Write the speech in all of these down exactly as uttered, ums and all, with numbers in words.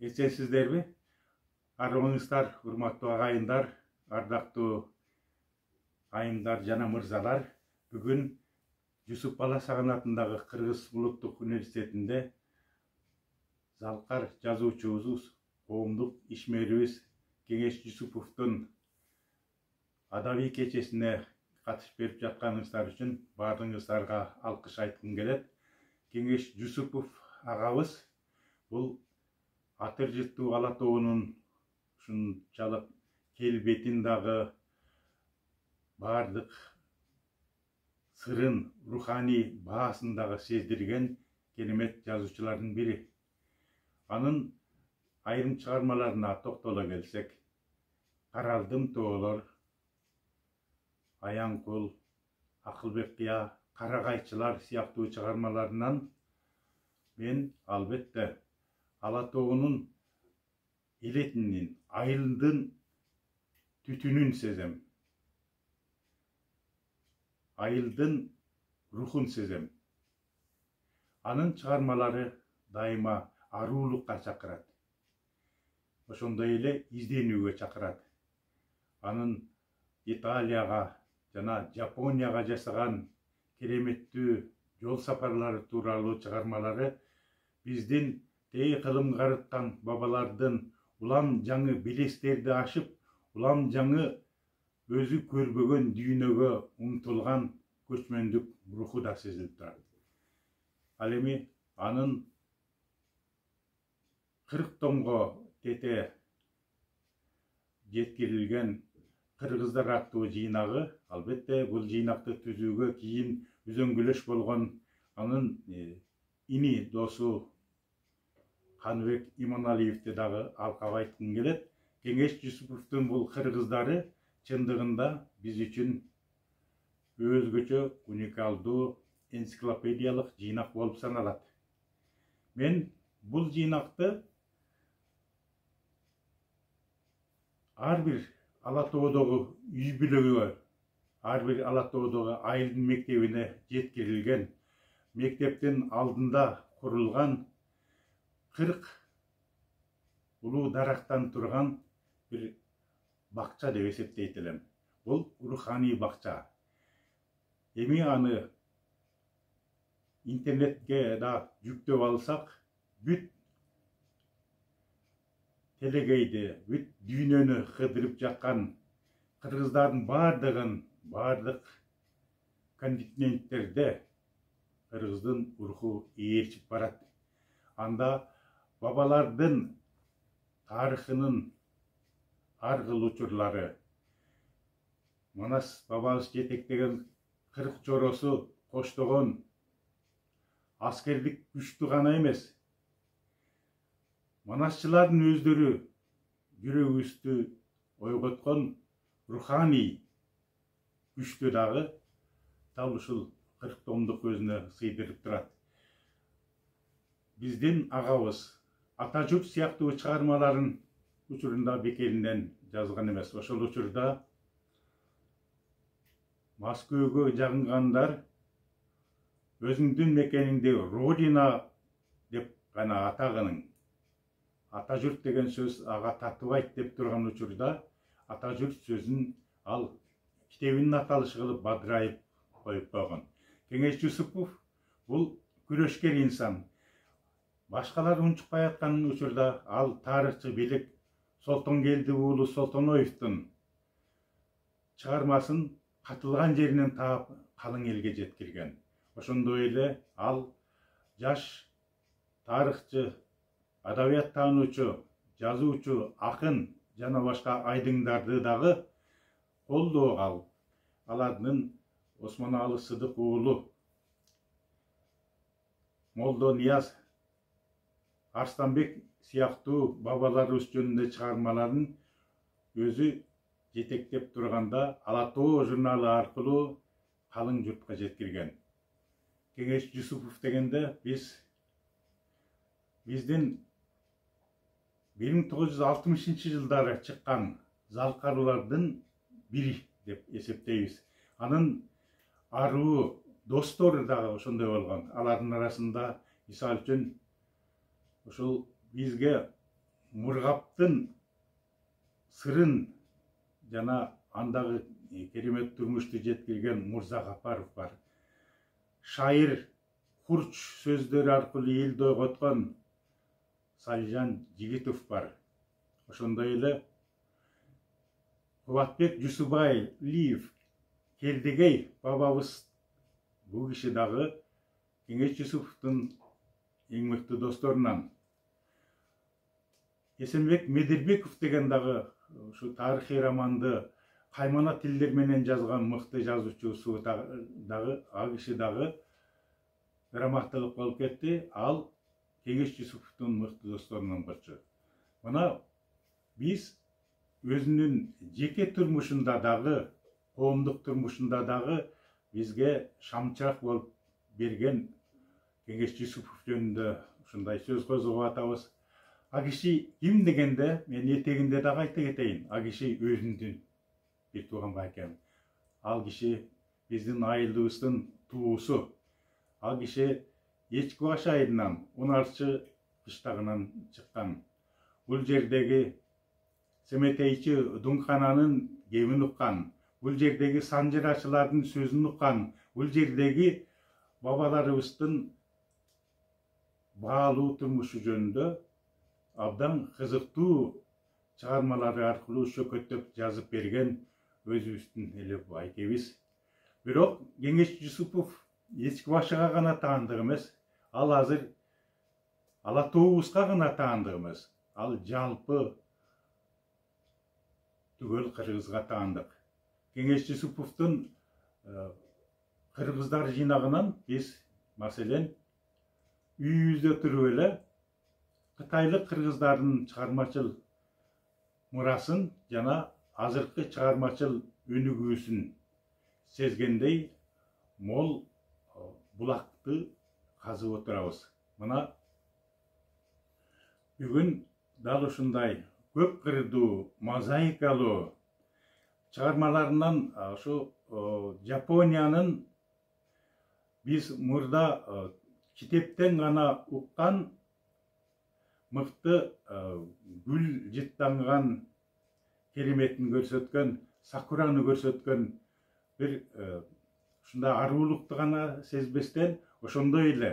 Эсенсиздерби? Арыбыңыздар, урматтуу агайындар, ардактуу айымдар жана мырзалар. Бүгүн Жусуп Баласаган атындагы Кыргыз улуттук университетинде Залкар жазуучубуз, коомдук ишмерибиз Кеңеш Жусуповдун адабий кечесине катышып берип жатканыңыздар үчүн баардыгыңыздарга алкыш айткым келет. Кеңеш Жусупов агабыз бул Атыр жыттуу Ала тоонун ушунчалык келбетин дагы бардык сырын, руханий баасын дагы сездирген керемет жазуучулардын бири. Анын айрым чыгармаларына токтоло келсек, Каралдым тоолор, Аяң кул, Акылбек кыя, Карагайчылар сыяктуу чыгармаларынан мен албетте Ала тоонун элетинин, айылдын түтүнүн сезем. Айылдын рухун сезем. Анын чыгармалары дайыма аруулукка чакырат. Ошондой эле изденүүгө чакырат. Анын Италияга жана Жапонияга жасаган кереметтүү жол сапарлары тууралуу чыгармалары биздин тээ кылым карыткан бабалардын улам жаңы белестерди ашып, улам жаңы өзү көрбөгөн дүйнөгө умтулган көчмөндүк руху да сезилип турат. Ал эми анын кырк томго тете жеткирилген Кыргыздар аттуу жыйнагы, албетте бул жыйнакты түзүүгө кийин үзөңгүлөш болгон анын ини досу Каныбек Иманалиевди дагы алкап айткым келет. Кеңеш Жусуповдун бул кыргыздары чындыгында биз үчүн өзгөчө уникалдуу энциклопедиялык жыйнак болуп саналат. Мен бул жыйнакты ар бир Ала тоодогу үй бүлөгө, ар бир Ала тоодогу айылдын мектебине жеткирилген, мектептин алдында курулган кырк улуу дарактан турган бир бакча деп эсептейт элем. Бул руханий бакча. Эми аны интернетке да жүктөп алсак, бүт телегейди, бүт дүйнөнү кыдырып жаткан кыргыздардын бардыгын, бардык континенттерде кыргыздын руху ээрчип барат. Анда бабалардын тарыхынын ар кыл учурлары, Манас бабабыз жетектеген кырк чоросу коштогон аскердик күчтү гана эмес, манасчылардын өздөрү жүрөгүбүздү ойготкон руханий күчтү дагы дал ушул кырк томдук өзүнө сыйдырып турат. Биздин агабыз Ата журт сыяктуу чыгармаларын учурунда бекеринен жазган эмес. Ошол учурда Москвага жагынгандар өзүңдүн мекениңди Родина деп гана атаганың. Ата журт деген сөз ага татыбайт деп турган учурда Ата журт сөзүн ал китебинин аталышы кылып бадырайып коюп койгон. Кеңеш Жусупов бул күрөшкер инсан. Башкалар унчукпай аткан учурда ал тарыхчы бийлик Солтонгелди уулу Солтоноевдун чыгармасын катылган жеринен таап калың элге жеткирген. Ошондой эле ал жаш тарыхчы, адабият таануучу, жазуучу, акын жана башка айдыңдарды дагы колдоого алып, алардын Осмоналы Сыдык уулу Молдо Нияз Арстанбек сыяктуу бабаларыбыз жөнүндө чыгармаларын өзү жетектеп турганда Ала тоо журналы аркылуу калың журтка жеткирген. Кеңеш Жусупов дегенде биз биздин бир миң тогуз жүз алтымышынчы жылдары чыккан залкарлардын бири деп эсептейбиз. Анын аруу достору дагы ошондой болгон. Алардын арасында мисалы үчүн ушул бизге Мургаптын сырын жана андагы керемет турмушту жеткирген Мурза Гапаров бар. Шайыр Курч сөздөрү аркылуу элди ойготкон Салижан Жигитов бар. Ошондой эле Кубатбек Жусубайлиев, Келдегей бабабыз, бул киши дагы Кеңеш Жусуповдун эң мыкты досторунан. Эсенбек Медербеков деген дагы ушу тарыхый романды каймана тилдер менен жазган мыкты жазуучусу дагы, ал киши дагы рамактылык болуп кетти. Ал Кеңеш Жусуповдун мыкты досторунун бірі. Мына биз өзүнүн жеке турмушунда дагы, коомдук турмушунда дагы бизге шамчырак болуп берген Кеңеш Жусупов жөнүндө ушундай сөз козгоп атабыз. А киши ким дегенде, мен этегинде дагы айта кетейин. А киши өзүндүн бир тууган байкем. Ал киши биздин айылыбыздын туусу. Ал киши Эчки Баш айылынан, Унарчы кыштагынан чыккан. Бул жердеги Семетейчи Дуңкананын кемин уккан. Бул жердеги санжырачылардын сөзүн уккан. Бул жердеги бабаларыбыздын баалуу турмушу жөнүндө абдан кызыктуу чыгармалары аркылуу шөкөттөп жазып берген өзүбүздүн эле байкебиз. Бирок Кеңеш Жусупов Эчки Башыга гана таандык эмес, ал азыр Ала тообузга гана таандык эмес, ал жалпы түгөл кыргызга таандык. Кеңеш Жусуповдун кыргыздар жыйнагынан биз, маселен, үйүбүздө туруп эле кытайлык кыргыздардын чыгармачыл мурасын жана азыркы чыгармачыл өнүгүүсүн сезгендей мол булакты казып отурабыз. Мына бүгүн дал ушундай көп кырдуу, мозаикалуу чыгармаларынан ушу Жапониянын биз мурда китептен гана уккан мыкты гүл жыттанган кереметин көрсөткөн, сакураны көрсөткөн бир ушундай арулукту гана сезбестен, ошондой эле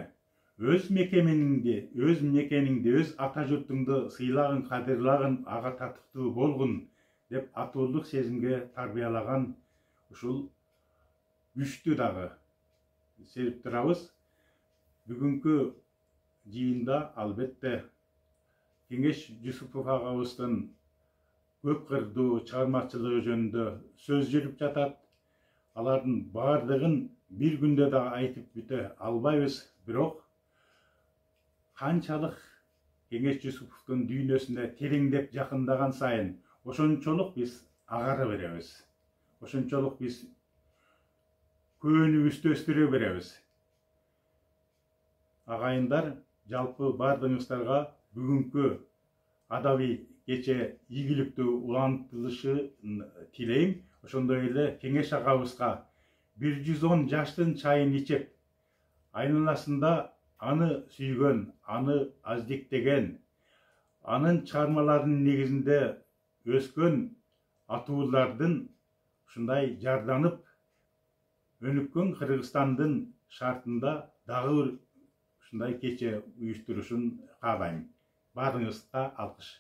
өз мекениңди, өз мекениңди, өз ата журтуңду сыйлагын, кадырлагын, ага татыктуу болгун деп атуулук сезимге тарбиялаган ушул күчтү дагы сезип турабыз. Бүгүнкү жыйында албетте Кеңеш Жусупов агабыздын көп кырдуу чыгармачылыгы жөнүндө сөз жүрүп жатат. Алардын баардыгын бир күндө да айтып бүтө албайбыз, бирок канчалык Кеңеш Жусуповдун дүйнөсүнө тереңдеп жакындаган сайын ошончолук биз агара беребиз. Ошончолук биз көөнүбүздү өстүрө беребиз. Агайындар, жалпы баардыгыңыздарга бүгүнкү адабий кече ийгиликтүү улантылышын тилейм. Ошондой эле Кеңеш агабызга бир жүз он жаштын чайын ичип, айналасында аны сүйгөн, аны аздиктеген, анын чыгармаларынын негизинде өскөн атуулардын ушундай жарданып өнүккөн Кыргызстандын шартында дагы ушундай кече уюштурушун каалайм. Баарыңызга алкыш.